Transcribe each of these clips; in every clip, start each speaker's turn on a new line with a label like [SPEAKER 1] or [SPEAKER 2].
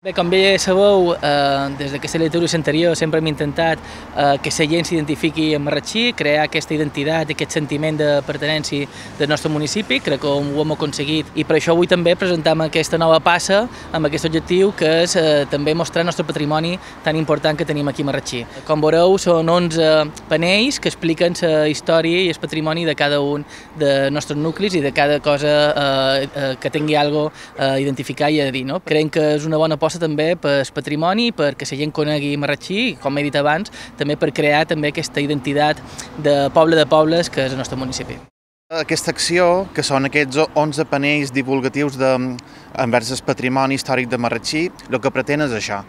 [SPEAKER 1] Bé, com bé sabeu, des de aquesta legislatura anterior sempre hem intentat que la gent s'identifiqui amb Marratxí, crear aquesta identitat i aquest sentiment de pertinença del nostre municipi. Crec que ho hem aconseguit i per això avui també presentem aquesta nova passa amb aquest objectiu, que és també mostrar el nostre patrimoni tan important que tenim aquí a Marratxí. Com veureu, són 11 panells que expliquen la història i el patrimoni de cada un dels nostres nuclis i de cada cosa que tingui alguna cosa a identificar i a dir. Creiem que és una bona aposta també per el patrimoni, perquè la gent conegui Marratxí i, com he dit abans, també per crear també aquesta identitat de poble de pobles que és el nostre municipi.
[SPEAKER 2] Aquesta acció, que són aquests 11 panells divulgatius envers el patrimoni històric de Marratxí, el que pretén és això,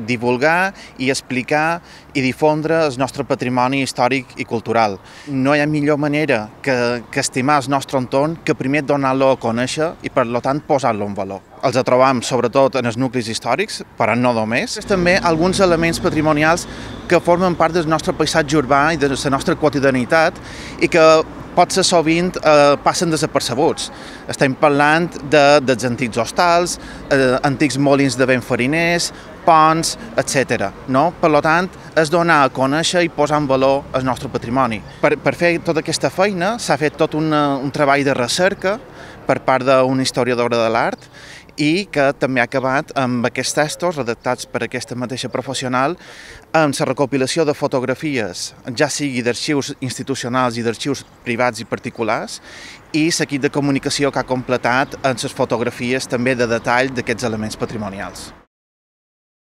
[SPEAKER 2] divulgar i explicar i difondre el nostre patrimoni històric i cultural. No hi ha millor manera que estimar el nostre entorn que primer donar-lo a conèixer i, per tant, posar-lo en valor. Els trobam sobretot en els nuclis històrics, però no només. També alguns elements patrimonials que formen part del nostre paisatge urbà i de la nostra quotidianitat i que potser sovint passen desapercebuts. Estem parlant dels antics hostals, antics molins de vent fariners, ponts, etc. Per tant, és donar a conèixer i posar en valor el nostre patrimoni. Per fer tota aquesta feina s'ha fet tot un treball de recerca per part d'una historiadora de l'art i que també ha acabat amb aquests textos redactats per aquesta mateixa professional amb la recopilació de fotografies, ja sigui d'arxius institucionals i d'arxius privats i particulars, i l'equip de comunicació que ha completat amb les fotografies també de detall d'aquests elements patrimonials.